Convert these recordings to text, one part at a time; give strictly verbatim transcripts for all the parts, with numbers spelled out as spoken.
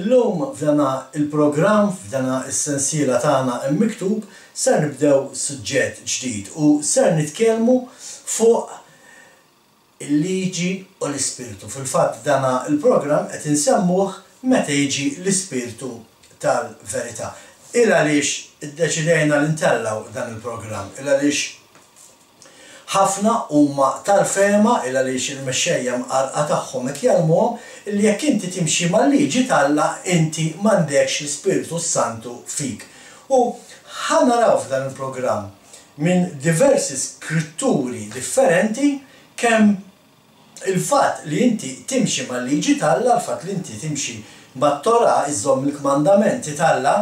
Illum f'dana il-programm, f'dana is-sensiela tagħna Miktub, ser nibdew suġġett ġdid u ser nitkellmu fuq il-liġi u l-ispirtu. Fil-fatt dana il-programm qed insemmuh "Meta jiġi l-Ispirtu tal-Verità". Il għaliex iddeċidejna li ntellgħu dan il-programm? Il għaliex ħafna huma tal-fehma, il għaliex il-mexxejja mqarqa tagħhom qed jgħallmuhom li jekk inti timxi mal-liġi t'Alla, inti m'għandekx l-Ispirtu Santu fik. U ħa naraw f'dan il-programm minn diversi skritturi differenti kemm il-fatt li inti timxi mal-liġi t'Alla, il-fatt li inti timxi mat-Torah, iżżomm il-kmandamenti t'Alla,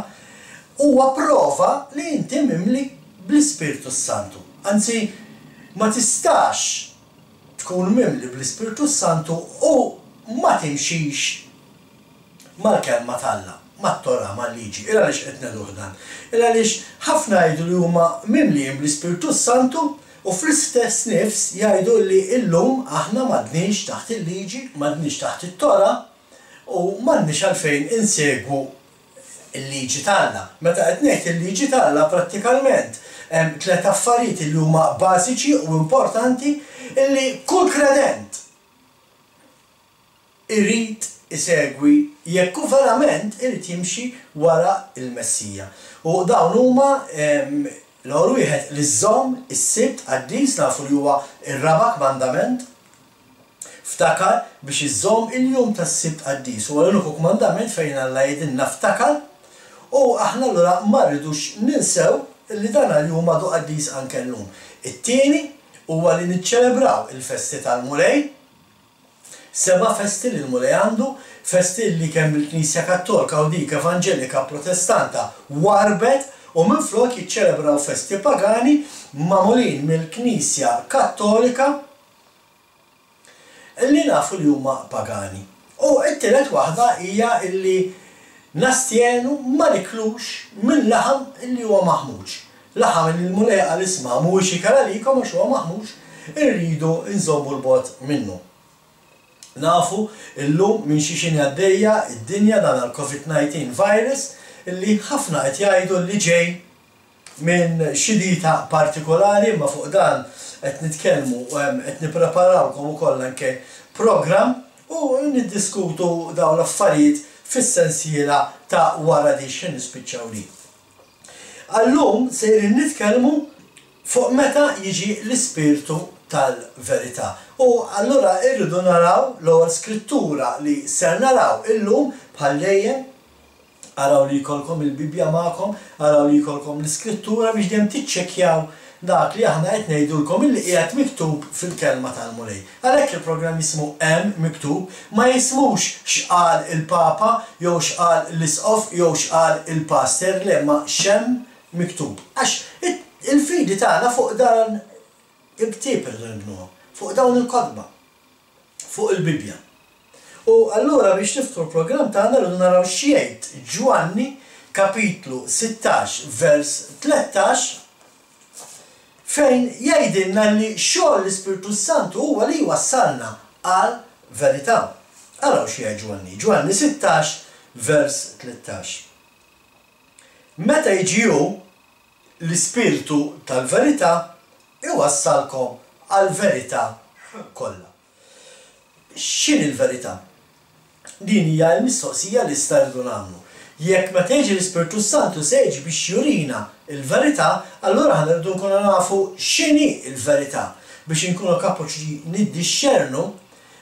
huwa prova li inti mimli bl-Ispirtu Santu. Anzi, ma tistax tkun mimli bl-Ispirtu Santu u ma timxix mal-kelma t'Alla, mat-Torah, mal-liġi. Il għaliex qed ngħiduh dan? Il għaliex ħafna jgħidu li huma mimlijin bl-Ispirtu Santu u fl-istess nifs jgħidu li illum aħna m'għadniex taħt il-liġi, m'għadniex taħt it-Torah u m'għandniex għalfejn insegwu il-liġi t'Alla. Meta qed ngħid il-liġi t'Alla, prattikalment hemm tliet affarijiet li huma bażiċi u importanti illi kull kredent irid isegwi jekk hu verament irid jimxi wara il-Messija. U dawn huma, l-ewwel wieħed, li żżomm is-Sibt qaddis, nafu li huwa ir-raba' kmandament. Ftakar biex iżżomm il-jum tas-Sibt qaddis. Huwa l-uniku kmandament fejn Alla jgħidilna "ftakar", u aħna allura ma rridux ninsew li dan il-jum għadu qaddis anke llum. It-tieni huwa li niċċelebraw il-festi tal-Mulej, seba' festi li l-Mulej għandu, festi li kemm il-Knisja Kattolika u dik Evanġelika Protestanta warbet u minflok jiċċelebraw festi pagani magħmulin mill-Knisja Kattolika li nafu li huma pagani. U t-tielet waħda hija illi nastjenu, ma niklux minn laħam illi huwa maħmuġ. Laħam li l-Mulej qal, "Isma', mhuwiex ikel għalikom għax huwa maħmuġ", irridu nżommu 'l bogħod minnu. Nafu illum minn xi xini għaddejja id-dinja, dan għal-COVID nineteen virus illi ħafna qed jgħidu li ġej minn xi dieta partikolari, ma fuq dan qed nitkellmu, qed nippreparawlkom ukoll anke program u niddiskutu dawn l-affarijiet fis-sensiela ta' wara di x'ħin nispiċċaw li. Għallum sejrin nitkellmu fuq meta jiġi l-Ispirtu tal-Verità. U allura irridu naraw l-ewwel skrittura li ser naraw illum. Bħal dejjem, araw li jkollkom il-Bibja magħkom, araw li jkollkom l-iskrittura biex dejjem tiċċekkjaw dak li aħna qed ngħidulkom illi qiegħed miktub fil-kelma tal-Mulej. Għalhekk il-programm jismu "Hemm Miktub", ma jismux "X'qal il-Papa" jew "X'qal l-Isqof" jew "X'qal il-Pastor", le, ma "X'hemm miktub". Għax il-fidi tagħna fuq dan il-ktieb irridu nibnuha, fuq dawn il-kotba, fuq il-Bibja. U allura biex niftħu l-programm tagħna rridu naraw x'jgħid Ġwanni kapitlu sittax vers tlettax, fejn jgħidilna li xogħol l-Ispirtu Santu huwa li jwassalna għal verità. Araw x'jgħid Ġwanni. Ġwanni sittax vers tlettax. "Meta jiġi hu, l-Ispirtu tal-Verità, iwassalkom għal verità kollha." X'inhi l-verità? Din hija l-mistoqsija li rridu nagħmlu. Jekk meta jiġi l-Ispirtu Santu se jiġi biex jurina il-verità, allura aħna rridu nkunu nafu x'inhi l-verità biex inkunu kapaċi niddixxernu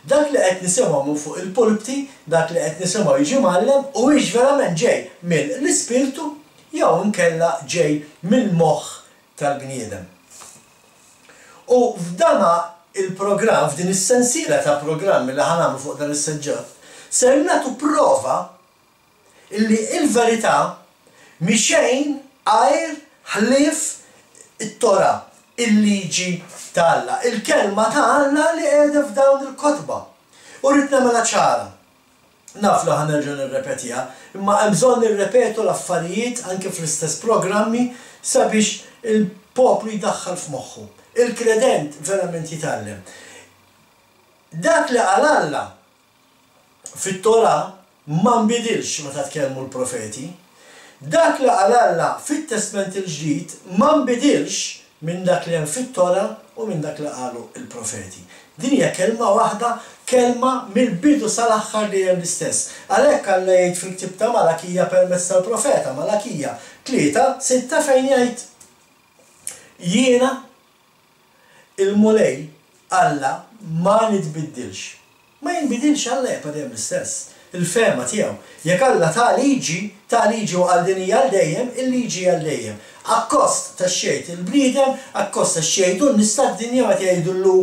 dak li qed nisimgħu minn fuq il-pulpti, dak li qed nisimgħu jiġi mgħallem, u hix verament ġej mill-Ispirtu jew inkella ġej mill-moħħ tal-bniedem. U f'dana il-programm, f'din is-sensiela ta' programmi li ħa nagħmlu fuq dan is-suġġett, ser nagħtu prova illi il-verità mhi xejn għajr ħlief it-Torah, il-liġi t'Alla, il-kelma ta' Alla li qiegħda f'dawn il-kotba. U rrid nagħmilha ċara. Naf li ħa nerġa' nirrepetiha, imma hemm bżonn nirrepetu l-affarijiet anke fl-istess programmi sabiex il-poplu jdaħħal f'moħħu. Il-kredent verament jitgħallem. Dak li qal Alla fit-Torah ma nbidilx meta tkellmu l-profeti. Dak li qal Alla fit-Testment il-Ġdid ma nbidilx minn dak li hemm fit-Tora u minn dak li qalu l-profeti. Din hija kelma waħda, kelma mill-bidu sal-aħħar li hemm l-istess. Għalhekk Alla jgħid fil-ktieb ta' Malakija permezz tal-profeta Malakija tlieta sitta fejn jgħid: Jiena il-Mulej Alla ma nitbiddilx. Ma jinbidilx Alla, jibqa' dejjem l-istess. Il-fehma tiegħu. Jekk Alla ta liġi, ta liġi u qal din hija għal dejjem, il-liġi għal dejjem. Akkost ta' xejt il-bniedem, akkost ta' xejtu n-nies tad-dinja meta jgħidu llu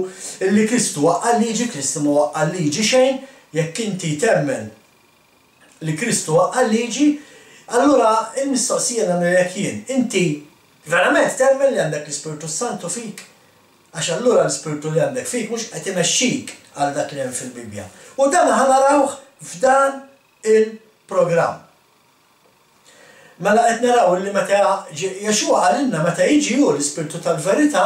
li Kristu waqqa' l-liġi, Kristu ma waqqa' l-liġi xejn. Jekk inti temmen li Kristu waqqa' l-liġi, allura il-mistoqsija nagħmilek jien. Inti verament temmen li għandek l-Ispirtu Santu fik? Għax allura l-Ispirtu li għandek fik mhux qed imexxik għal dak li hemm fil-Bibbja. U dan ħa narawh f'dan il-programm. Mela qed naraw li meta Yeshua qalilna meta jiġi hu l-Ispirtu tal-verità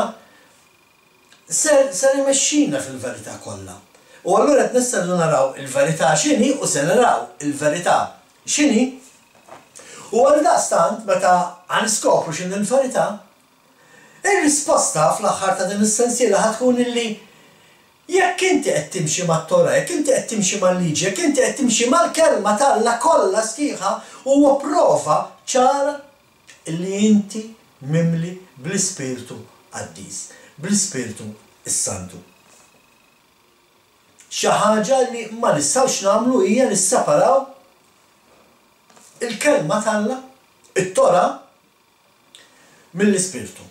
ser, ser imexxina fil-verità kollha. U allura qed nistgħu naraw il-verità x'inhi u se naraw il-verità x'inhi. U għaldaqstant meta ħa niskopru x'inhi l-verità, ir-risposta fl-aħħar ta' din is-sensiela ħa tkun illi jekk inti qed timxi mat-Tora, jekk inti qed timxi mal-liġi, jekk inti qed timxi mal-kelma t'Alla kollha sħiħa, huwa prova ċara li inti mimli bl-Ispirtu Qaddis, bl-Ispirtu s-Santu. Xi ħaġa li ma nistgħux nagħmlu hija nisseparaw il-kelma t'Alla, it-Tora, mill-Ispirtu.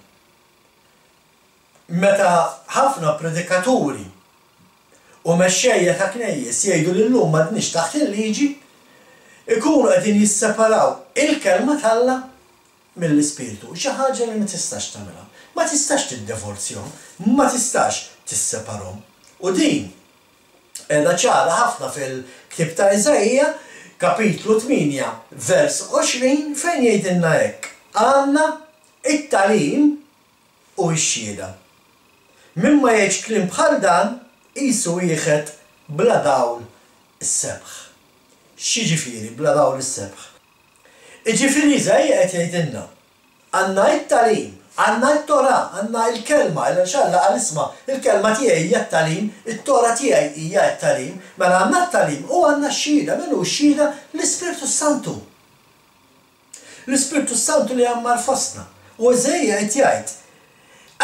Meta ħafna predikaturi u mexxejja ta' knejjes jgħidu li llum m'għadniex taħt il-liġi, ikunu qegħdin jisseparaw il-kelma t'Alla mill-Ispirtu. Xi ħaġa li ma tistax tagħmilha. Ma tistax tiddivorzjahom, ma tistax tisseparhom. U din qiegħda ċara ħafna fil-ktieb ta' Iżaija, kapitlu tmienja, vers għoxrin, fejn jgħidilna hekk: għandna it-tagħlim u x-xhieda. Min ma jgħidx kliem bħal dan qisu wieħed bla dawl is-sebħ. X'jiġifieri bla dawl is-sebħ? Jiġifieri Iżaija qed jgħidilna għandna it-tagħlim, għandna t-Tora, għandna il-kelma, għax Alla qal isma', il-kelma tiegħi hija t-tagħlim, it-Tora tiegħi hija t-tagħlim, mela għandna t-tagħlim u għandna x-xhieda. Min hu x-xhieda? L-Ispirtu Santu. L-Ispirtu Santu li għammar fostna. U Iżaija qed jgħid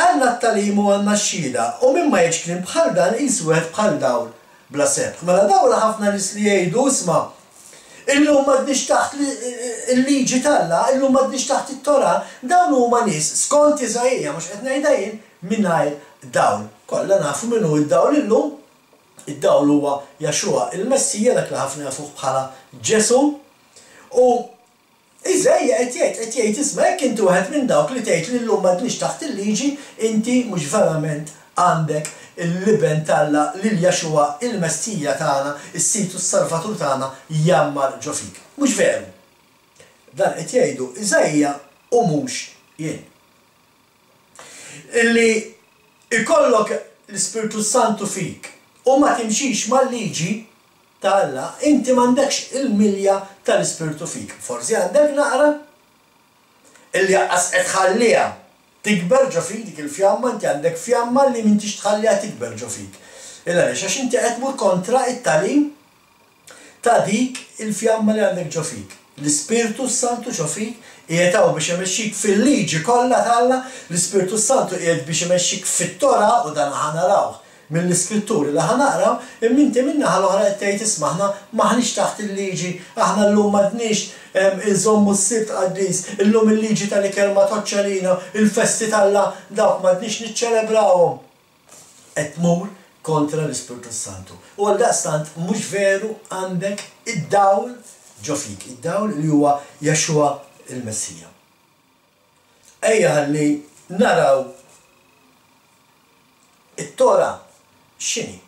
għandna t-tagħlim u għandna x-xhieda, u min ma jgħidx kliem bħal dan qisu wieħed bħal dawl bla sebħ. Mela dawl ħafna nies li jgħidu isma', illum m'għadniex taħt il-liġi t'Alla, illum m'għadniex taħt it-Tora, dawn huma nies skont Iżaija, mhux qed ngħidha jien, mingħajr dawl. Kollha nafu min hu d-dawl illum. Id-dawl huwa Yeshua il-Messija, dak li ħafna jafuh bħala Ġesu. U Iżaija qed jgħid, qed jgħid isma', jekk inti wieħed minn dawk li tgħid li llum m'għadniex taħt il-liġi, inti mhux verament għandek il-liben t'Alla lil Yeshua il-Messija tagħna, is-Sid u s-Salvatur tagħna jgħammar ġo fik. Mhux veru. Dan qed jgħidu Iżaija u mhux jien. Illi ikollok l-Ispirtu Santu fik u ma timxix mal-liġi ta' Alla, inti m'għandekx il-milja tal-Ispirtu fik. Forsi għandek naqra illi qas qed tħalliha tikber ġo fik dik il-fjamma, inti għandek fjamma li m'intix tħalliha tikber ġo fik. Illa għaliex? Għax inti qed tmur kontra it-tagħlim ta' dik il-fjamma li għandek ġo fik. L-Ispirtu Santu ġo fik qiegħed hawn biex imexxik fil-liġi kollha t'Alla, l-Ispirtu Santu qiegħed biex imexxik fit-Tora, u dan ħa narawh mill-iskritturi li ħa naqraw, imma inti min-naħa l-oħra qed tgħid isma' aħna m'aħniex taħt il-liġi, aħna llum m'għadniex inżommu s-Sibt qaddis, illum il-liġi tal-ikel ma tgħoddx għalina, il-festi t'Alla dawk m'għadniex niċċelebrawhom. Qed tmur kontra l-Ispirtu Santu. U għaldaqstant mhux veru għandek id-dawl ġo fik, id-dawl li huwa Yeshua il-Messija. Ejja ħalli naraw it-Tora x'inhi,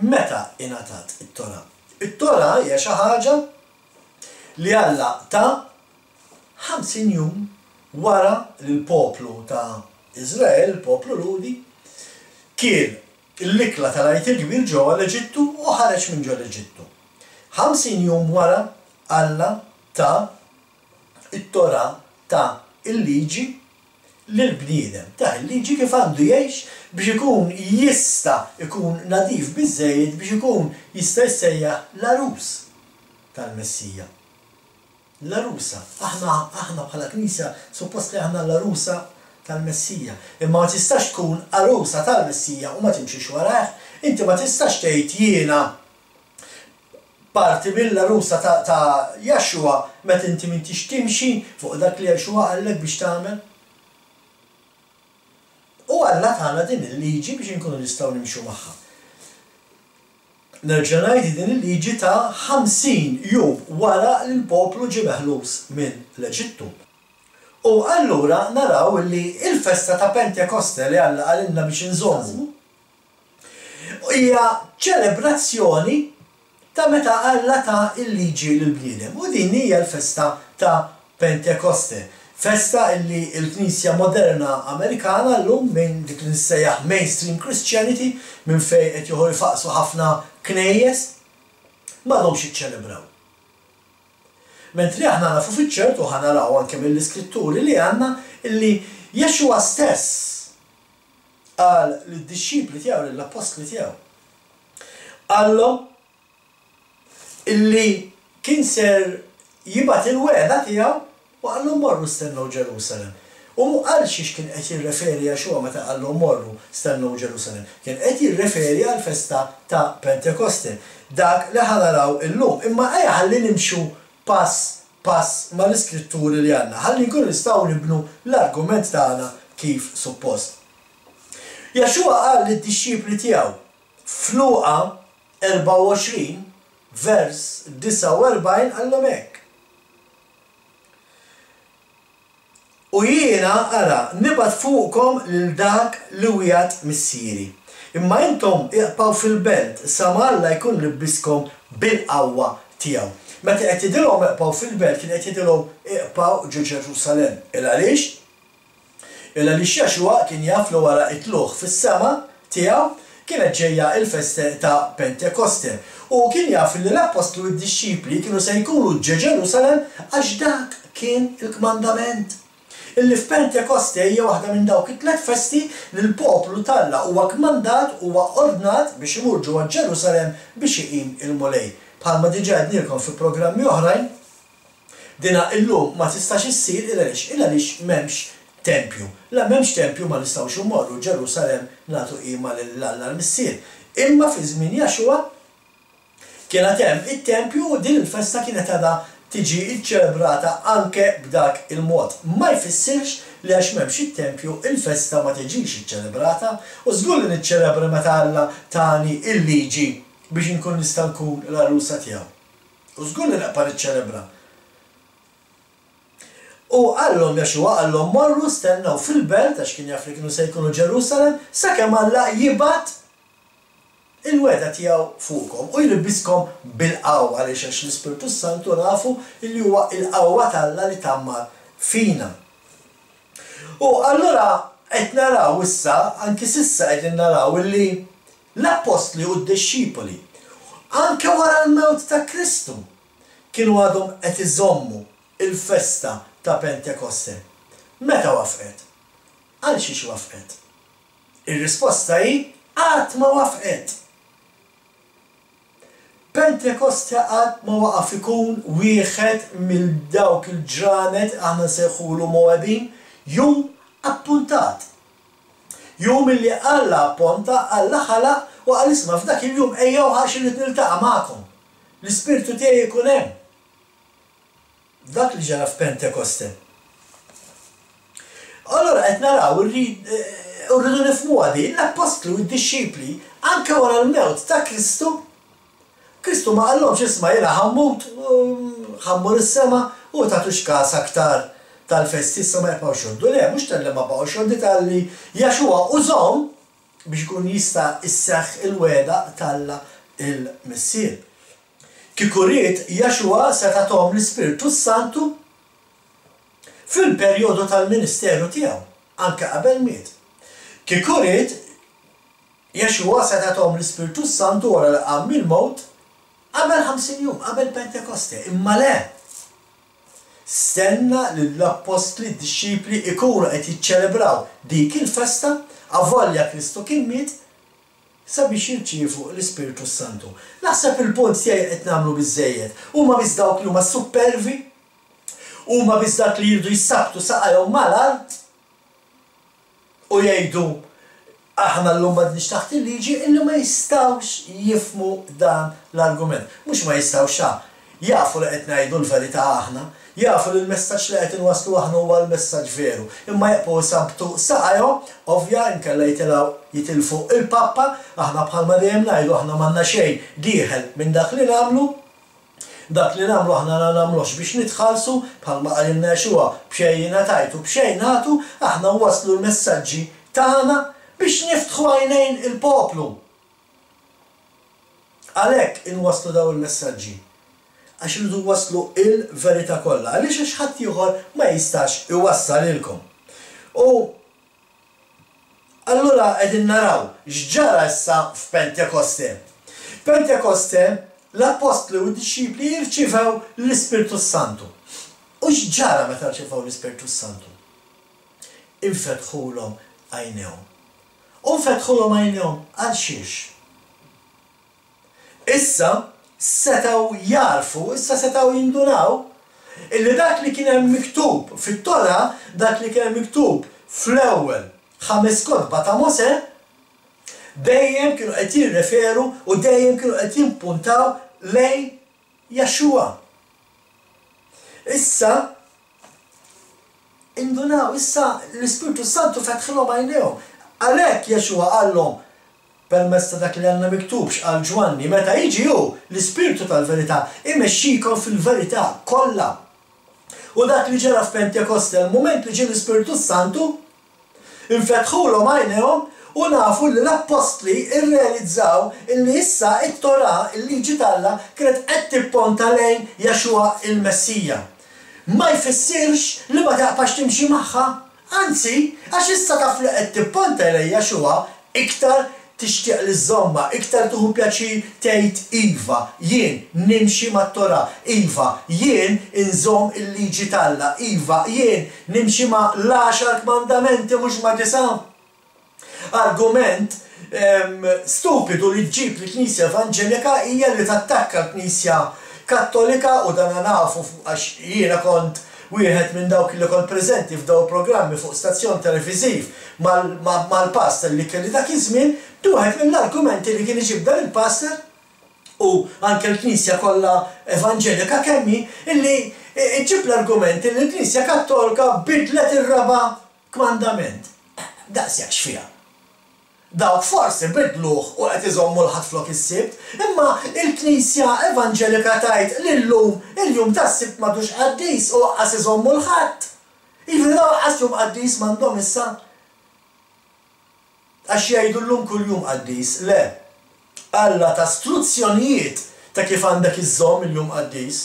meta ingħatat it-Tora. It-Tora hija xi ħaġa li Alla ta ħamsin jum wara li l-poplu ta' Iżrael, il-poplu Lhudi, kien l-ikla tal-Għid il-Kbir ġewwa l-Eġittu u ħareġ minn ġo l-Eġittu. Ħamsin jum wara Alla ta it-Torah, ta il-liġi lill-bniedem, ta il-liġi kif għandu jgħix biex ikun jista' ikun nadif biżżejjed biex ikun jista' jissejjaħ l-għarus tal-Messija. L-għarusa. Aħna, aħna bħala Knisja suppost li aħna l-għarusa tal-Messija. Imma ma tistax tkun għarusa tal-Messija u ma timxix warajh. Inti ma tistax tgħid jiena parti mill-għarusa ta', ta Yeshua meta inti m'intix timxi fuq dak li Yeshua qallek biex tagħmel. U Alla tana din il-liġi biex inkunu nistgħu nimxu magħha. Nerġa' ngħid, din il-liġi ta' ħamsin jum wara li l-poplu ġie meħlus minn l-Eġittu. U allura naraw li il-festa ta' Pentekoste li Alla qalilna biex inżommu hija ċelebrazzjoni ta' meta Alla ta il-liġi lill-bniedem. U din hija l-festa ta' Pentekoste. Festa illi l-Knisja moderna Amerikana llum, minn dik li nissejjaħ mainstream Christianity, minn fejn qed joħor jfaqsu ħafna knejjes, m'għadhomx jiċċelebraw. Mentri aħna nafu fiċ-ċert u ħa naraw anke mill-iskritturi li għandna illi Yeshua stess qal lid-dixxipli tiegħu, lill-appostli tiegħu, qallhom illi kien ser jibgħat il-wegħda tiegħu u qallhom morru stennew Ġerusalem. U għal xiex kien qed jirreferi Yeshua meta qallhom morru stennew Ġerusalem? Kien qed jirreferi għal festa ta' Pentekoste, dak li ħa naraw illum. Imma ejja ħalli nimxu pass pass mal-iskritturi li għandna, ħalli nkunu nistgħu nibnu l-argument tagħna kif suppost. Yeshua qal lid-dixxipli tiegħu f'Luqa erbgħa u għoxrin vers disgħa u erbgħin qallhom hekk: U jiena, ara, nibgħat fuqkom lil dak li wiegħed Missieri. Imma intom iqbgħu fil-belt sa ma Alla jkun libbiskom bil-qawwa tiegħu. Meta qed jidilhom iqbgħu fil-belt, kien qed jidilhom iqbgħu ġo Ġerusalemm. Il għaliex? Il għaliex Yeshua kien jaf li wara it-tlugħ fis-sema tiegħu kienet ġejja il-festa ta' Pentekoste. U kien jaf li l-appostli u d-dixxipli kienu se jkunu ġo Ġerusalemm għax dak kien il-kmandament. Illi f'Pentekoste hija waħda minn dawk it-tliet festi li l-poplu t'Alla huwa kmandat, huwa ordnat biex imur ġewwa Ġerusalemm biex iqim il-Mulej. Bħalma diġà għednielkom fi programmi oħrajn, dina illum ma tistax issir il għaliex, il għaliex m'hemmx tempju. La m'hemmx tempju ma nistgħux immorru Ġerusalemm nagħtu qima lil Alla l-Missier. Imma fi żmien Yeshua kien għad hemm it-tempju u din il-festa kienet għadha tiġi ċċelebrata anke b'dak il-mod. Ma jfissirx li għax m'hemmx it-tempju il-festa ma tiġix iċċelebrata, u żgur li niċċelebra meta Alla tani il-liġi biex inkun nista' nkun l-għarusa tiegħu. U żgur li nibqa' niċċelebra. U qallhom Yeshua, qallhom morru stennew fil-belt, għax kien jaf li kienu se jkunu Ġerusalemm, sakemm Alla jibgħat il-wegħda tiegħu fuqkom u jlibbiskom bil-qawwa. Għaliex? Għax l-Ispirtu Santu nafu li huwa il-qawwa t'Alla li tgħammar fina. U allura qed naraw issa, anki s'issa qegħdin naraw illi l-appostli u d-dixxipoli anke wara l-mewt ta' Kristu kienu għadhom qed iżommu il-festa ta' Pentekoste. Meta wafqet? Għal xiex wafqet? Ir-risposta hi qatt ma wafqet. Pentekoste qatt ma waqaf ikun wieħed mill dawk il-ġranet aħna nsejħulu Moedim, jum appuntat. Jum illi Alla apponta, Alla ħalaq u qal isma' f'dak il-jum ejjew għax irrid niltaqa' magħkom. L-Ispirtu tiegħi jkun hemm. Dak li ġara f'Pentekoste. Allora qed naraw irridu nifhmuha din, l-appostli u d-dixxipli anke wara l-mewt ta' Kristu, Kristu ma qallhomx isma' jiena ħammut, ħammur is-sema u tagħtux każ aktar tal-festi issa ma jibqgħux jgħoddu. Le, mhux talli ma baqgħux jgħoddu, talli Yeshua użhom biex ikun jista' isseħħ il-wegħda t'Alla il-Missier. Kieku ried Yeshua seta' tahom l-Ispirtu Santu fil-perjodu tal-ministeru tiegħu, anke qabel miet. Kieku ried Yeshua seta' tahom l-Ispirtu Santu wara li qam mill-mewt Qabel ħamsin jum, qabel Pentekoste, imma le. Stenna li l-appostli, d-dixxipli ikunu qed jiċċelebraw dik il-festa, avolja Kristu kien miet, sabiex jirċievu l-Ispirtu Santu. Naħseb il-punt tiegħi qed nagħmlu biżżejjed. Huma biss dawk li huma supervi, huma biss dak li jridu jsabbtu saqajhom mal-art u jgħidu aħna llum m'għadniex taħt il-liġi, illi ma jistgħux jifhmu dan l-argument. Mhux ma jistgħux xa, jafu li qed ngħidu l-verità aħna, jafu li l-messaġġ li qed inwasslu aħna huwa l-messaġġ veru, imma jibqgħu jsabbtu saqajhom, ovvja inkella jitilgħu jitilfu il-pappa. Aħna bħalma dejjem ngħidu, aħna m'għandna xejn dieħel minn dak li nagħmlu. Dak li nagħmlu aħna ma nagħmlux biex nitħallsu, bħalma qalilna Yeshua, b'xejn ingħatajtu, b'xejn nagħtu, aħna nwasslu l-messaġġi tagħna biex niftħu għajnejn il-poplu. Għalhekk inwasslu daw il-messaġġi. Għax irridu nwasslu il-verità kollha, għaliex għax ħadd ieħor ma jistax iwassalilkom. U allura qegħdin naraw x'ġara issa f'Pentekoste. Pentekoste l-appostli u d-dixxipli jirċivew l-Ispirtu Santu. U x'ġara meta rċivew l-Ispirtu Santu? Infetħulhom għajnejhom. U nfetħulhom għajnejhom għal xiex? Issa setgħu jarfu, issa setgħu jindunaw illi dak li kien hemm miktub fit-Tora, dak li kien hemm miktub fl-ewwel ħames kotba ta' Mosè, dejjem kienu qed jirreferu u dejjem kienu qed jimpuntaw lejn Yeshua. Issa indunaw, issa l-Ispirtu Santu fetħilhom għajnejhom. Għalhekk Yeshua qallhom permezz ta' dak li għandna miktub x'qal Ġwanni, meta jiġi hu l-Ispirtu tal-verità imexxikom fil-verità kollha. U dak li ġara f'Pentekoste, il-mument li ġie l-Ispirtu Santu, infetħulhom għajnejhom u nafu li l-appostli irrealizzaw illi issa it-Torah, il-liġi t'Alla, kienet qed tipponta lejn Yeshua il-Messija. Ma jfissirx li ma taqbax timxi magħha, anzi, għax issa taf li qed tipponta lejn Yeshua, iktar tixtieq li żżommha, iktar tieħu pjaċir tgħid iva, jien nimxi mat-Torah, iva, jien inżomm il-liġi t'Alla, iva, jien nimxi ma' l-għaxar kmandamenti mhux ma' disa'. Argument stupidu li ġġib l-Knisja Evanġelika hija li tattakka l-Knisja Kattolika, u dan nafu għax jiena kont wieħed minn dawk li kont preżenti f'daw programmi fuq stazzjon televiżiv mal-pastor li kelli dak iż-żmien, wieħed mill-argumenti li kien iġib dan il-pastor u anke l-Knisja kollha Evanġelika kemmi, illi iġib l-argument li l-Knisja Kattolika bidlet ir-raba' kmandament. Daqshekk x'fiha. Dawk forsi bidluh u qed iżommu l-Ħadd flok is-Sibt, imma il-Knisja Evanġelika tgħid li llum il-jum tas-Sibt m'għadux qaddis u lanqas iżommu l-Ħadd. Jiġifieri dawn lanqas jum qaddis m'għandhom issa. Għax jgħidu llum kull jum qaddis. Le, Alla ta struzzjonijiet ta' kif għandek iżżomm il-jum qaddis.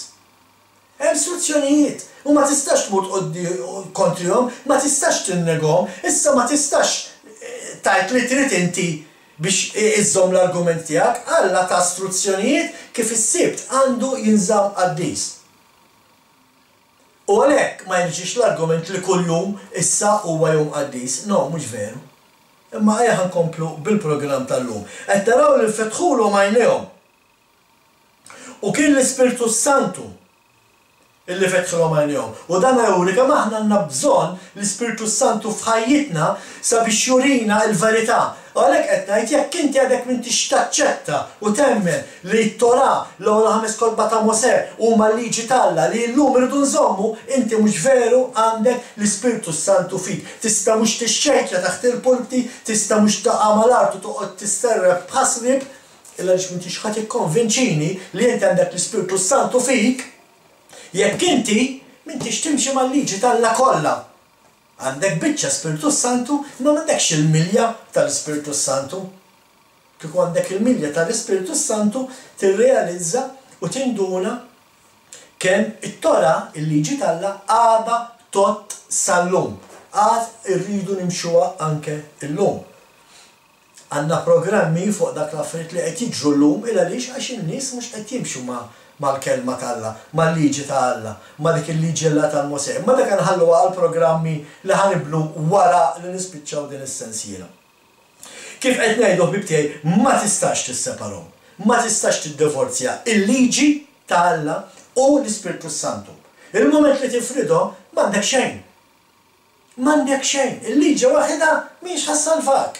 Hemm struzzjonijiet u ma tistax tmur kontrihom, ma tistax tinnegahom, issa ma tistax tajt li trid inti biex iżżomm l-argument tiegħek. Alla ta struzzjonijiet kif is-Sibt għandu jinżamm qaddis. U għalhekk ma jiġix l-argument li kuljum issa huwa jum qaddis. No, mhux veru. Imma ejja nkomplu bil-programm tal-lum. Qed taraw li fetħulhom għajnejhom. U kien l-Ispirtu Santu illi fetħilhom għajnejhom. U dan juri kemm aħna għandna bżonn l-Ispirtu Santu f'ħajjitna sabiex jurina l-verità. U għalhekk qed ngħid jekk inti għadek m'intix taċċetta u temmen li t-Torah, l-ewwel ħames kotba ta' Mosè huma l-liġi t'Alla li llum irridu nżommu, inti mhux veru għandek l-Ispirtu Santu fik. Tista' mhux tixxejkja taħt il-pulpti, tista' mhux taqa' mal-art u toqgħod tisterreb b'ħasrib, illa għaliex m'intix ħadd ikkonvinċini li inti għandek l-Ispirtu Santu fik. Jekk inti m'intix timxi mal-liġi t'Alla kollha. Għandek biċċa Spirtu Santu, imma m'għandekx il-milja tal-Ispirtu Santu. Kieku għandek il-milja tal-Ispirtu Santu, tirrealizza u tinduna kemm it-Torah, il-liġi t'Alla, għadha tot sal-lum. Għad irridu nimxuha anke illum. Għandna programmi fuq dak l-affarijiet li qed jiġru llum il għaliex għax in-nies mhux qed jimxu ma' mal-kelma t'Alla, mal-liġi ta' Alla, ma' dik il-liġi Alla ta' Mosè. Imma dak nħalluha għal programmi li ħa nibnu wara li nispiċċaw din is-sensiela. Kif qed ngħidu, ħbieb tiegħi, ma tistax tisseparahom, ma tistax tiddivorzja il-liġi ta' Alla u l-Ispirtu Santu. Il-moment li tifridhom m'għandek xejn. M'għandek xejn. Il-liġi waħedha mhix ħa ssalvak.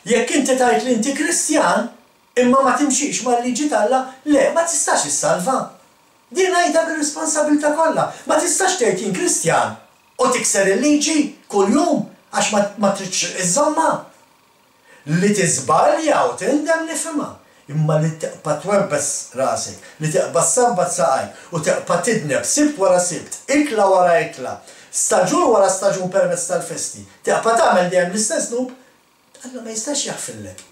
Jekk inti tgħid li inti Kristjan, imma ma timxix mal-liġi t'Alla, le, ma tistax issalva. Din ngħidha bir-responsabilità kollha. Ma tistax tgħid jien Kristjan u tikser il-liġi kuljum għax ma, ma tridx iżżommha. Li tiżbalja u tindem nifhimha. Imma li tibqa' twebbes rasek, li tibqa' ssabbat saqajk u tibqa' tidneb Sibt wara Sibt, ikla wara ikla, staġun wara staġun permezz tal-festi, tibqa' tagħmel dejjem l-istess dnub, Alla ma jistax jaħfirlek.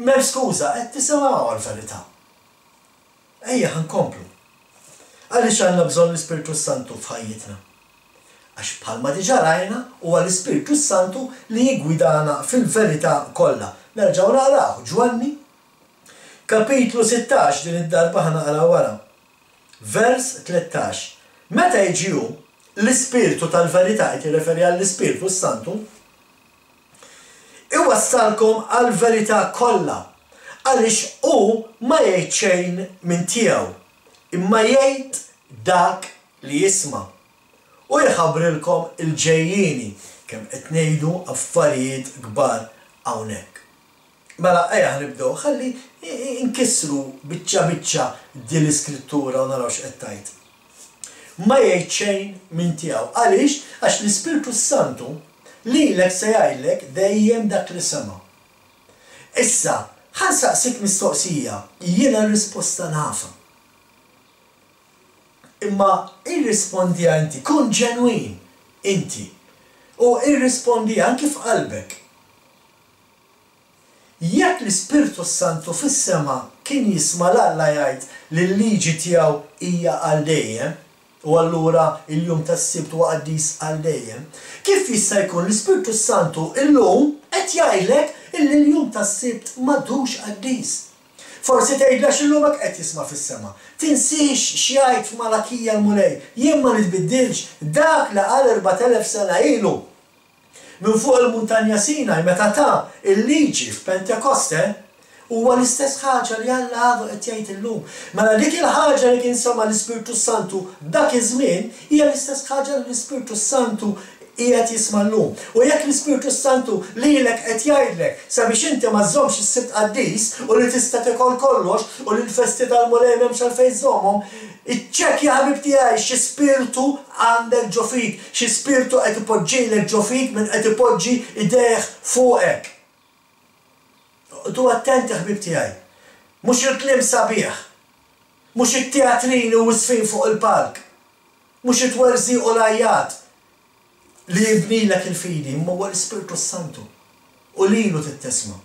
M'hemm skuża, qed tisimgħu għall-verità. Ejja ħa nkomplu. Għaliex għandna bżonn l-Ispirtu Santu f'ħajjitna? Għax bħalma diġà rajna huwa l-Ispirtu Santu li jiggwidana fil-verità kollha. Nerġgħu naqraw Ġwanni kapitlu sittax, din id-darba ħa naqra wara. Vers tlettax. Meta jiġi hu, l-Ispirtu tal-verità, qed jirreferi għall-Ispirtu Santu, iwassalkom għall-verità kollha, għaliex hu ma jgħid xejn minn tiegħu, imma jgħid dak li jisma' u jħabbrilkom il-ġejjieni. Kemm qed ngħidu affarijiet kbar hawnhekk. Mela ejja nibdew ħalli nkissru biċċa biċċa din l-iskrittura u naraw x'qed tgħid. Ma jgħid xejn minn tiegħu. Għaliex? Għax l-Ispirtu Santu lilek se jgħidlek dejjem dak li sema'. Issa, ħa nsaqsik mistoqsija, jiena r-risposta nafha. Imma irrispondiha inti, kun ġenwin inti. U irrispondiha anki f'qalbek. Jekk l-Ispirtu Santu fis-sema kien jisma' 'l Alla jgħid li l-liġi tiegħu hija għal dejjem, u allura il-jum tas-Sibt huwa qaddis għal dejjem, kif jista' jkun l-Ispirtu Santu illum qed jgħidlek illi l-jum tas-Sibt m'għadux qaddis? Forsi tgħidli għax illum hekk qed jisma' fis-sema. Tinsiex x'jgħid f'Malakija l-Mulej, jien ma nitbiddilx, dak li qal erbat elef sena ilu minn fuq il-muntanja Sinaj meta ta il-liġi f'Pentekoste, huwa l-istess ħaġa li Alla għadu qed jgħid illum. Mela dik il-ħaġa li kien sema' l-Ispirtu Santu dak iż-żmien hija l-istess ħaġa li l-Ispirtu Santu qiegħed jisma' llum. U jekk l-Ispirtu Santu lilek qed jgħidlek sabiex inti ma żżommx is-Sibt qaddis u li tista' tiekol kollox u li l-festi tal-Mulej m'hemmx għalfejn żżommhom, iċċekkja ħabib tiegħi xi spirtu għandek ġo fik, xi spirtu qed ipoġġilek ġo fik min qed ipoġġi idejh fuqek. Oqgħodu attenti ħbib tiegħi. Mhux il-kliem sabiħ, mhux it-teatrini u s-sfin fuq il-palk, mhux it-twerżiq u l-għajjat li jibnilek il-fidi, imma huwa l-Ispirtu Santu u lilu tittisma'.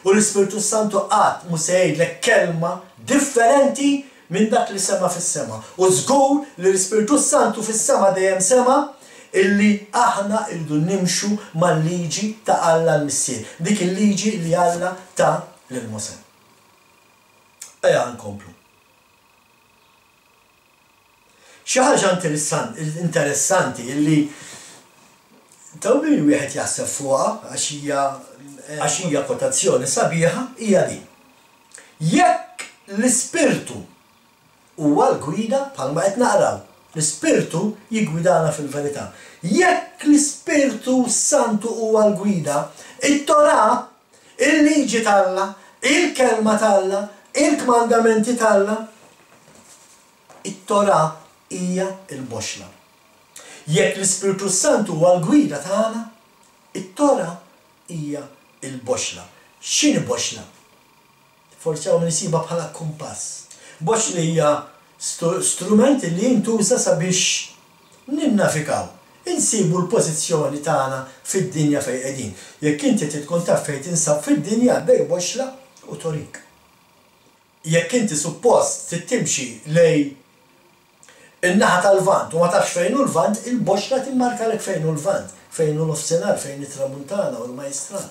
U l-Ispirtu Santu qatt mhu se jgħidlek kelma differenti minn dak li sema' fis-sema. U żgur li l-Ispirtu Santu fis-sema dejjem sema' illi aħna rridu nimxu mal-liġi ta' Alla l-Missier, dik il-liġi li Alla ta lil Mosè. Ejja nkomplu. Xi ħaġa interessanti illi taw min wieħed jaħseb fuqha għax hija għax hija kwotazzjoni sabiħa hija din. Jekk l-Ispirtu huwa l-gwida bħalma qed naqraw, l-Ispirtu jiggwidana fil-verità. Jekk l-Ispirtu Santu huwa l-gwida, it-Torah, il-liġi t'Alla, il-kelma t'Alla, il-kmandamenti t'Alla, it-Torah hija l-boxla. Jekk l-Ispirtu Santu huwa l-gwida tagħna, it-Torah hija l-boxla. X'inhi boxla? Forsi hawn min isibha bħala kumpass. Boxla hija strument li jintuża sabiex ninnavikaw, insibu l-pożizzjoni tagħna fid-dinja fejn qegħdin. Jekk inti trid tkun taf fejn tinsab fid-dinja, għaddej boxla u torik. Jekk inti suppost trid timxi lejn in-naħa tal-Lvant u ma tafx fejn hu l-Lvant, il-boxla timmarkalek fejn hu l-Lvant, Fejn hu nofsinhar, fejn it-tramuntana u l-majstral.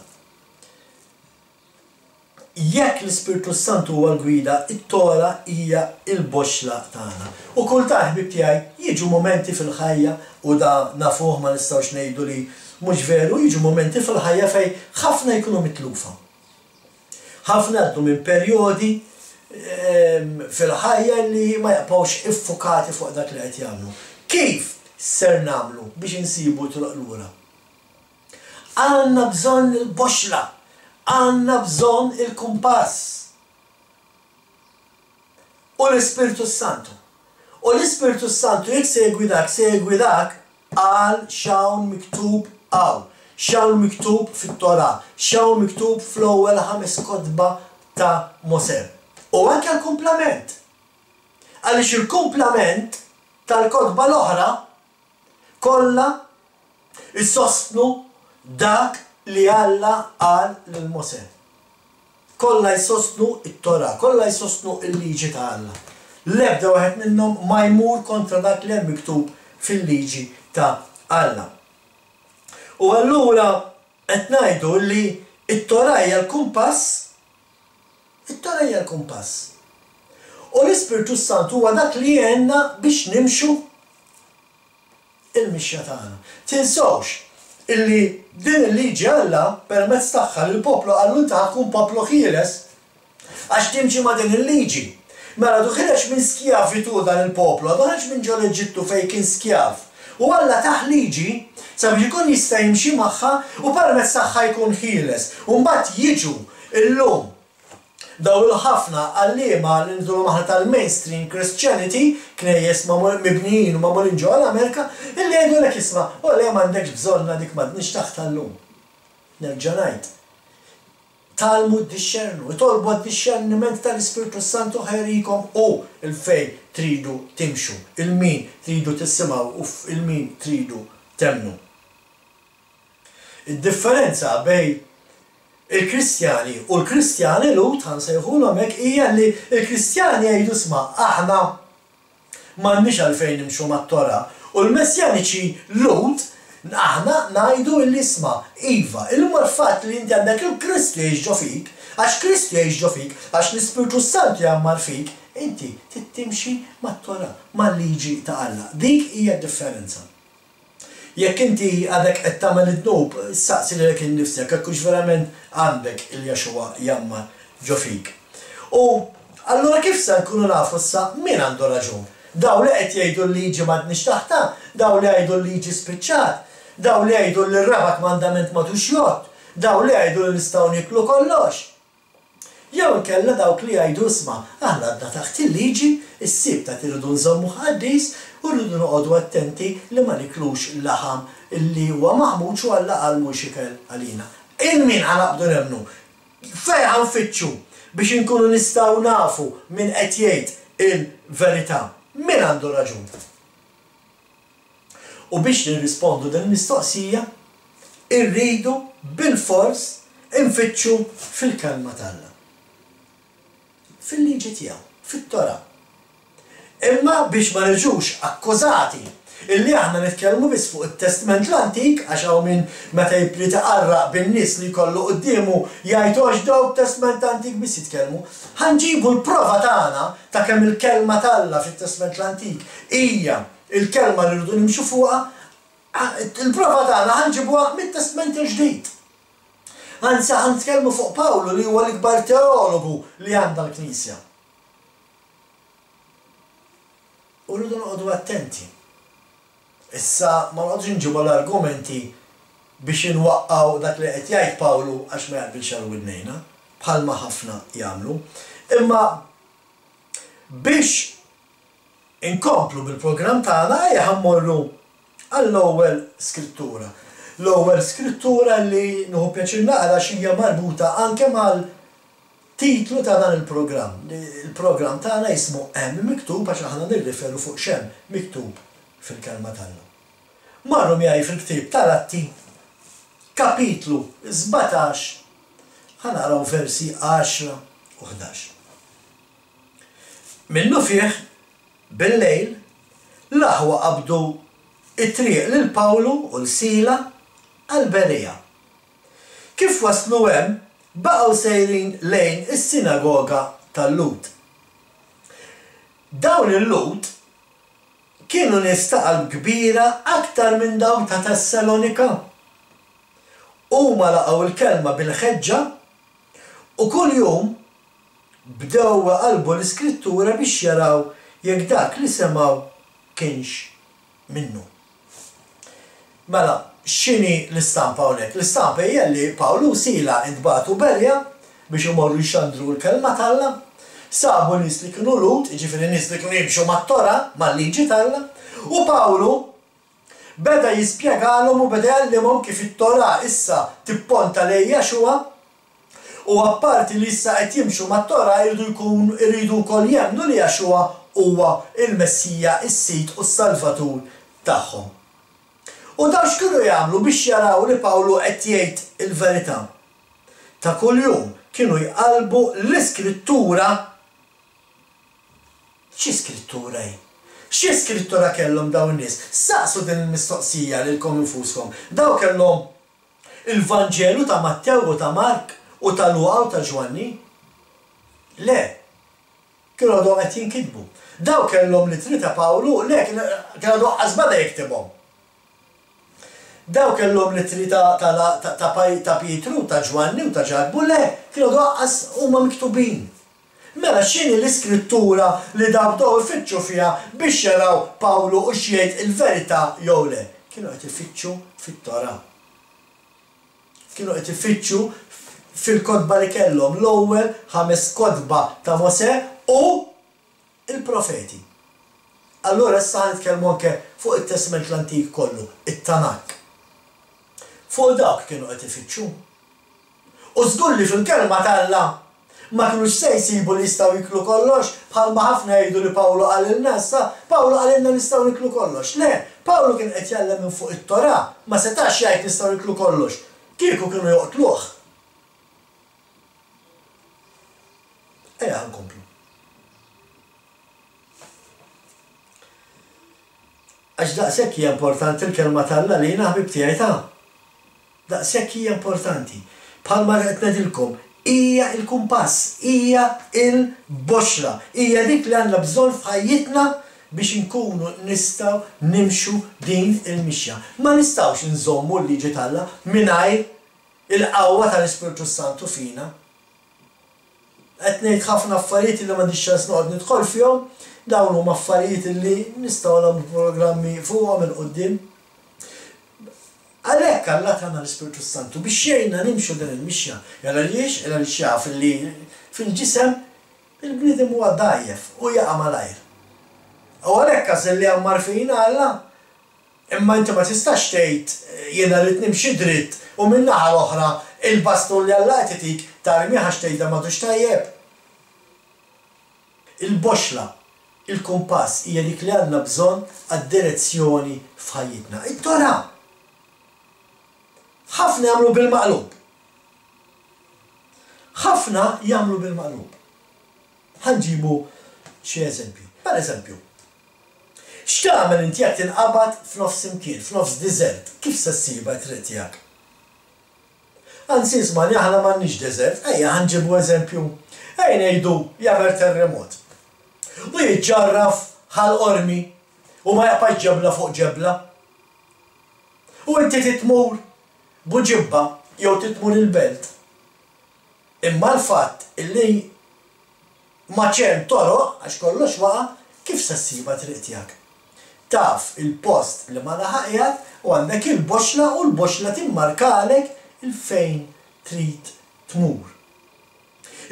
Jekk l-Ispirtu Santu huwa l-gwida, it-Tora hija l-boxla tagħna. U kultant, ħbieb tiegħi, jiġu momenti fil-ħajja, u da nafuh, ma nistgħux ngħidu li mhux veru, jiġu momenti fil-ħajja fejn ħafna jkunu mitlufa. Ħafna għaddu minn perjodi fil-ħajja li ma jaqbgħux iffukati fuq dak li qed jagħmlu. Kif ser nagħmlu biex insibu triq lura? Għandna bżonn il-boxla, għandna bżonn il-kumpass. U l-Ispirtu Santu. U l-Ispirtu Santu jekk se jgwidak, se jgwidak għal x'hawn miktub hawn. X'hawn miktub fit-Torah, x'hawn miktub fl-ewwel ħames kotba ta' Mosè. U anke l-kumplament. Għaliex il-kumplament tal-kotba l-oħra kollha jsostnu dak li Alla qal lil Mosè. Kollha jsostnu it-Torah, kollha jsostnu il-liġi ta' Alla. L-ebda wieħed minnhom ma jmur kontra dak li hemm miktub fil-liġi ta' Alla. U allura qed ngħidu li t-Torah hija l-kumpass, it-Torah hija l-kumpass. U l-Ispirtu Santu huwa dak li jgħinna biex nimxu il-mixja tagħna. Tinsewx illi din il-liġi Alla permezz tagħha lill-poplu qallu inti ħa tkun poplu ħieles għax timxi ma' din il-liġi. Mela du ħireġ minn skjavitu dan il-poplu, għadu ħareġ minn ġol Eġittu fejn kien skjav. U Alla tah liġi sabiex ikun jista' jimxi magħha u permezz tagħha jkun ħieles. U mbagħad jiġu illum daw il-ħafna għalliema li ngħidulhom aħna tal-mainstream Christianity, knejjes mibnijin u magħmulin ġewwa l-Amerika, illi jgħidulek isma' u le m'għandekx bżonna dik m'għadniex taħt llum. Nerġa' ngħid. Tgħallmu ddixxernu, itolbu għad-dixxerniment tal-Ispirtu Santu ħajrikom u il-fej tridu timxu, il-min tridu tisimgħu u il-min tridu temmnu. Id-differenza bejn il-Kristjani u l-Kristjani Lhud, ħa nsejħulhom hekk, hija li l-Kristjani jgħidu sma' aħna m'għandniex għalfejn nimxu mat-Torah, u l-Messjaniċi Lhud aħna ngħidu li isma' iva, illum l-fatt li inti għandek il-Kristu jgħix ġo fik, għax Kristu jgħix ġo fik, għax l-Ispirtu Santu jgħammar fik, inti trid timxi mat-Torah, mal-liġi ta' Alla. Dik hija d-differenza. Jekk inti għadek qed tagħmel id-dnub, saqsi lilek innifsek jekk hux verament għandek il-Jaxuwa jgħammar ġo fik. U allura kif se nkunu nafu issa min għandu raġun? Daw li qed jgħidu l-liġi m'għadniex taħtha, daw li jgħidu l-liġi spiċċat, daw li jgħidu li r-raba' kmandament m'għadux jgħodd, daw li jgħidu li nistgħu nieklu kollox. Jew inkella dawk li jgħidu isma' aħna għadna taħt il-liġi, is-Sibt qed irridu nżommu qaddis u rridu noqogħdu attenti li ma niklux laħam illi huwa maħmuġ u Alla qal mhux ikel għalina. Il-min ħa naqbdu nemmnu? Fejn ħa nfittxu biex inkunu nistgħu nafu min qed jgħid il-verità? Min għandu raġun? U biex nirrispondu din il-mistoqsija, irridu bilfors infittxu fil-kelma t'Alla. Fil-liġi tiegħu, fit-Torah. Imma biex ma niġux akkużati illi aħna nitkellmu biss fuq it-Testament l-Antik, għax hawn min meta jibli taqarraq bin-nies li jkollu quddiemu jgħid għax dawk Testament Antik biss jitkellmu. Ħa nġibu l-prova tagħna ta' kemm il-kelma t'Alla fit-Testament l-Antik hija il-kelma li rridu nimxu fuqha, il-prova tagħna ħa nġibuha mit-Testament il-Ġdid. Anzi ħa nitkellmu fuq Pawlu li huwa l-ikbar teologu li għandha l-Knisja. U rridu noqogħdu attenti. Issa ma noqogħdux nġibu l-argumenti biex inwaqqgħu dak li qed jgħid Pawlu għax ma jaqbilx għal widnejna, bħalma ħafna jagħmlu. Imma biex inkomplu bil-programm tagħna ejja ħa mmorru għall-ewwel skrittura. L-ewwel skrittura li nieħu pjaċir naqra x'hija marbuta anke mal-titlu ta' dan il-programm. Il-programm tagħna jismu Hemm Miktub għax aħna nirriferu fuq x'hemm miktub fil-kelma t'Alla. Marru miegħi fil-ktieb tal-Atti, kapitlu sbatax, ħa naqraw versi għaxra u ħdax. Minnu fih, bil-lejl, l-aħwa qabdu it-triq lil Pawlu u l-Sila għal Berea. Kif waslu hemm, baqgħu sejrin lejn is-sinagoga tal-Lhud. Dawn il-Lhud kienu nies ta' qalb kbira aktar minn dawk ta' Tessalonika. Huma laqgħu l-kelma bil-ħeġġa u kuljum bdew iqallbu l-Iskrittura biex jaraw jekk dak li semgħu kienx minnu. Mela, x'inhi l-istampa hawnhekk? L-istampa hija li Pawlu u Sila ntbagħtu Berea biex imorru jxandru l-kelma t'Alla. Sabu nies li kienu Lhud, jiġifieri nies li kienu jimxu mat-Torah, mal-liġi t'Alla, u Pawlu beda jispjegalhom u beda jgħallimhom kif it-Torah issa tipponta lejn Jaxuwa, u apparti li issa qed jimxu mat-Torah jridu jkunu jridu wkoll jemmnu li Jaxuwa huwa l-Messija, is-Sid u s-Salvatur tagħhom. U dawn x'kienu jagħmlu biex jaraw li Pawlu qed jgħid il-verità? Ta' kuljum kienu jqallbu l-Iskrittura. Xi skrittura hi? Xi skrittura kellhom dawn in-nies? Saqsu din il-mistoqsija lilkom infuskom. Dawn kellhom il-Vanġelu ta' Mattew u ta' Mark u ta' Luqa u ta' Ġwanni? Le. Kienu għadhom qed jinkitbu. Dawn kellhom l-ittri ta' Pawlu? Le, kien għadu aqqas beda jiktibhom. Dawn kellhom l-ittri ta' ta' Pietru, ta' Ġwanni u ta' Ġakbu? Le, kienu għadu aqqas huma miktubin. Mela x'inhi l-iskrittura li dawn bdew ifittxu fiha biex jaraw Pawlu hux jgħid il-verità jew le? Kienu qed ifittxu fit-Torah. Kienu qed ifittxu fil-kotba li kellhom, l-ewwel ħames kotba ta' Mosè u l-profeti. Allura issa ħa nitkellmu anke fuq it-Testment l-Antik kollu, it-Tanakh. Fuq dawk kienu qed ifittxu. U żgur li fil-Kelma t'Alla ma kinux se jsibu li jistgħu jieklu kollox, bħalma ħafna jgħidu li Pawlu qalilna issa, Pawlu qalilna nistgħu nieklu kollox. Le, Pawlu kien qed jgħallem minn fuq it-Torah, ma setax jgħid nistgħu nieklu kollox. Kieku kienu joqtluh. Ejja ħa nkomplu. Għax daqshekk hija importanti l-Kelma t'Alla lina ħbieb tiegħi ta'. Daqshekk hija importanti. Bħalma qed ngħidilkom, hija l-kumpass, hija l-boxla, hija dik li għandna bżonn f'ħajjitna biex inkunu nistgħu nimxu din il-mixja. Ma nistgħux inżommu l-liġi t'Alla mingħajr il-qawwa tal-Ispirtu s-Santu fina. Qed ngħid ħafna affarijiet li m'għandix ċans noqgħod nidħol fihom, dawn huma affarijiet li nistgħu nagħmlu programmi fuqhom 'il quddiem. Għalhekk Alla tana l-Ispirtu s-Santu biex jgħinna nimxu din il-mixja. Jalla għaliex? Jalla għaliex jaf li fil-ġisem il-bniedem huwa dgħajjef u jaqa' malajr. U għalhekk għażel li jgħammar fina Alla. Imma inti ma tistax tgħid jiena rrid nimxi dritt u min-naħa l-oħra il-bastun li Alla qed itik tarmih għax tgħid dan m'għadux tajjeb. Il-boxla, il-kumpass hija dik li għandna bżonn għad-direzzjoni f'ħajjitna. It-Torah! Ħafna jagħmlu bil-maqlub. Ħafna jagħmlu bil-maqlub. Ħa nġibu xi eżempji. Per eżempju, x'tagħmel inti jekk tinqabad f'nofs imkien, f'nofs deżert, kif se ssibha t-triq tiegħek? Anzi ismagħni aħna m'għandniex deżert, ejja ħa nġibu eżempju. Ejja ngħidu jagħmel terremot. U jiġġarraf Ħal Qormi u ma jaqbax ġebla fuq ġebla. U inti trid tmur Buġibba jew trid tmur il-Belt. Imma l-fatt illi m'għadx hemm toroq għax kollox waqa', kif se ssibha t-triq tiegħek? Taf il-post li ma naħa qiegħed u għandek il-boxla u l-boxla timmarkalek 'il fejn trid tmur.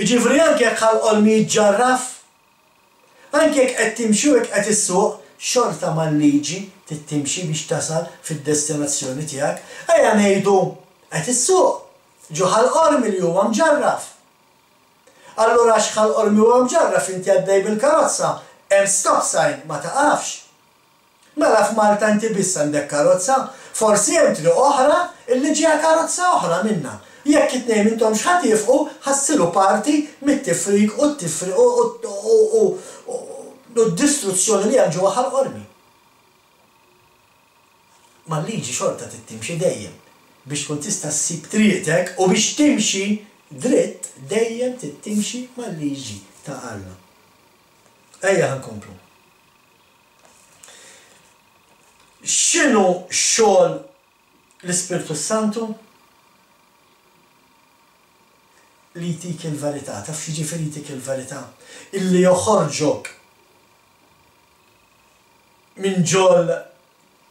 Jiġifieri anke jekk Ħal Qormi jiġġarraf, Anki jekk qed timxi u jekk qed issuq, xorta mal-liġi trid timxi biex tasal fid-destinazzjoni tiegħek. Ejja ngħidu qed issuq ġo Ħal Qormi li huwa mġarraf. Allura għax Ħal Qormi huwa mġarraf inti għaddej bil-karozza, hemm stop sign ma taqafx. Mela f'Malta inti biss għandek karozza? Forsi hemm triq oħra illi ġejja karozza oħra minnha. Jekk it-tnejn m'intomx ħa tiefqu, ħa ssiru parti mit-tifrik u t-tifri u u u d-distruzzjoni li hemm ġewwa Ħal Qormi. Mal-liġi xorta trid timxi dejjem. Biex tkun tista' ssib triqtek u biex timxi dritt dejjem trid timxi mal-liġi ta' Alla. Ejja ħa nkomplu. X'inhu xogħol l-Ispirtu Santu? Li jtik il-verità. Taf x'jiġifieri jtik il-verità? Illi joħorġok minn ġol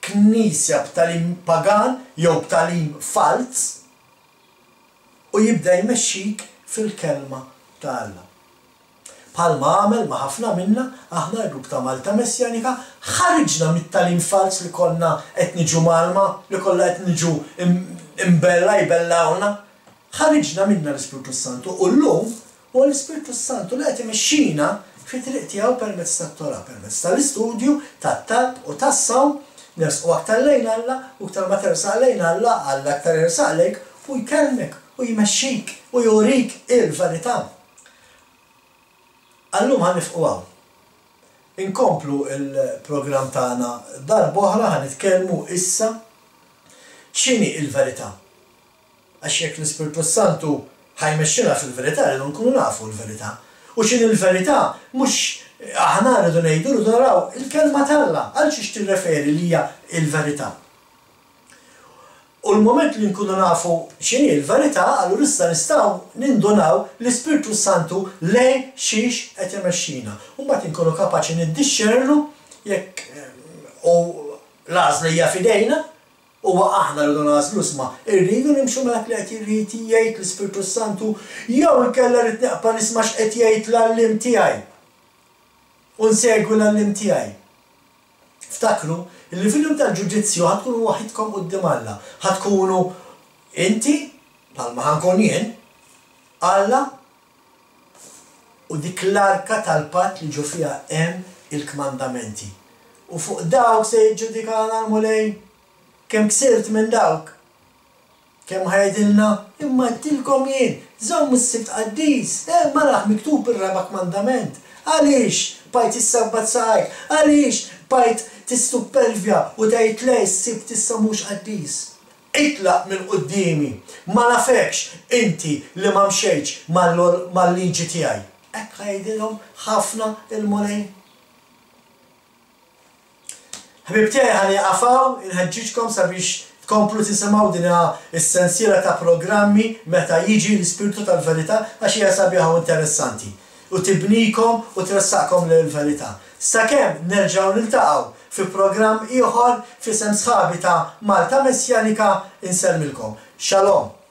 knisja b'tagħlim pagan jew b'tagħlim falz u jibda jmexxik fil-kelma ta' Alla. Bħalma għamel ma' ħafna minna, aħna l-grupp ta' Malta Messjanika ħariġna mit-tagħlim falz li konna qed niġu mgħallma, li kollha qed niġu imbella jbellgħulna. Ħariġna minna l-Ispirtu s-Santu u llum huwa l-Ispirtu s-Santu li qed imexxina fit-triq tiegħu permezz tat-Torah, permezz tal-istudju, tat-talb u tas-sawm, nersqu aktar lejn Alla u iktar ma tersaq lejn Alla, Alla aktar jersaq lejk u jkellmek u jmexxik u jurik il-verità. Għal-lum ħa nifqu hawn. Inkomplu l-programm tagħna darb'oħra, ħa nitkellmu issa x'inhi l-verità. Għax jekk l-Ispirtu s-Santu ħa jmexxina fil-verità rridu nkunu nafu l-verità. U x'inhi l-verità mhux aħna rridu ngħidu, rridu naraw il-kelma t'Alla għal xiex tirreferi li hija l-verità. U l-mument li nkunu nafu x'inhi l-verità, allura issa nistgħu nindunaw l-Ispirtu s-Santu lejn xiex qed imexxina. U mbagħad inkunu kapaċi niddixxernu jekk u l-għażla hija f'idejna, huwa aħna rridu nagħżlu isma' irridu nimxu ma' dak li qed irid jgħid l-Ispirtu s-Santu jew inkella rrid neqpa' nisma' x'qed jgħid l-għalliem tiegħi u nsegwi l-għalliem tiegħi. Ftakru li fil-jum tal-ġudizzju ħa tkunu waħidkom quddiem Alla. Ħa tkunu inti, bħalma ħa nkun jien, Alla u dik l-arka tal-patt li ġo fiha hemm il-kmandamenti. U fuq dawk se jiġġudikana l-Mulej. Kemm ksirt minn dawk? Kemm ħa jgħidilna, imma għedtilkom jien, żommu s-Sibt qaddis, hemm araħ miktub ir-raba' kmandament. Għaliex bqajt issabbat saqajk? Għaliex bqajt tissuppervja u tgħid le s-Sibt issa mhux qaddis? Itlaq minn quddiemi, ma nafekx inti li ma mxejtx mal-liġi tiegħi. Hekk ħa jgħidilhom ħafna il-Mulej. Ħbieb tiegħi ħa nieqaf hawn, inħeġġiġkom sabiex tkomplu tisimgħu din is-sensiela ta' programmi meta jiġi l-Ispirtu tal-Verità għax hija sabiħa u interessanti u tibnikom u tressaqkom lejn il-verità. Sakemm nerġgħu niltaqgħu fi programm ieħor f'isem sħabi ta' Malta Messjanika insellmilkom. Shalom!